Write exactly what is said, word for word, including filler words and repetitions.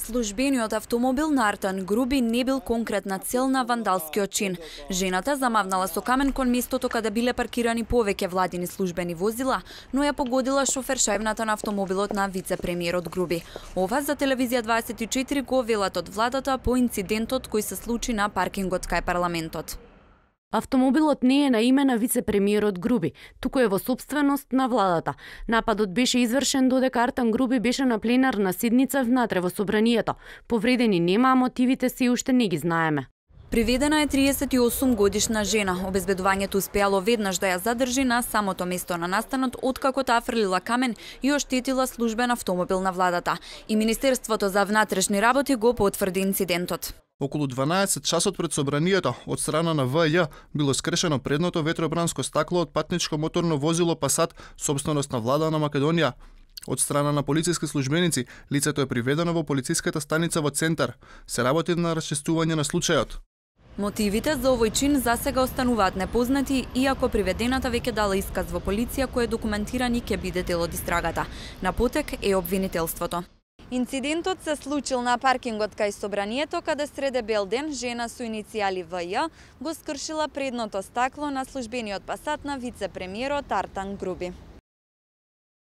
Службениот автомобил на Артан Груби не бил конкретна цел на вандалскиот чин. Жената замавнала со камен кон местото каде биле паркирани повеќе владини службени возила, но ја погодила шофершајбната на автомобилот на вице-премиерот Груби. Ова за телевизија дваесет и четири го велат од владата по инцидентот кој се случи на паркингот кај парламентот. Автомобилот не е на име на вице-премиерот Груби, туку е во сопственост на владата. Нападот беше извршен додека Артан Груби беше на пленарна седница внатре во собранието. Повредени нема, а мотивите се уште не ги знаеме. Приведена е триесет и осум годишна жена. Обезбедувањето успеало веднаш да ја задржи на самото место на настанот, откако таа фрлила камен и оштетила службен автомобил на владата. И Министерството за внатрешни работи го потврди инцидентот. Околу дванаесет часот пред собранието, од страна на В Ј, било скрешено предното ветробранско стакло од патничко моторно возило Пасат, собственост на влада на Македонија. Од страна на полициски службеници, лицето е приведено во полициската станица во Центар. Се работи на расчистување на случајот. Мотивите за овој чин засега остануваат непознати, иако приведената веќе дала исказ во полиција кој е документиран и ќе биде дел од истрагата. На потек е обвинителството. Инцидентот се случил на паркингот кај собранието, каде среде бел ден жена со иницијали В Ј го скршила предното стакло на службениот Пасат на вице-премиерот Артан Груби.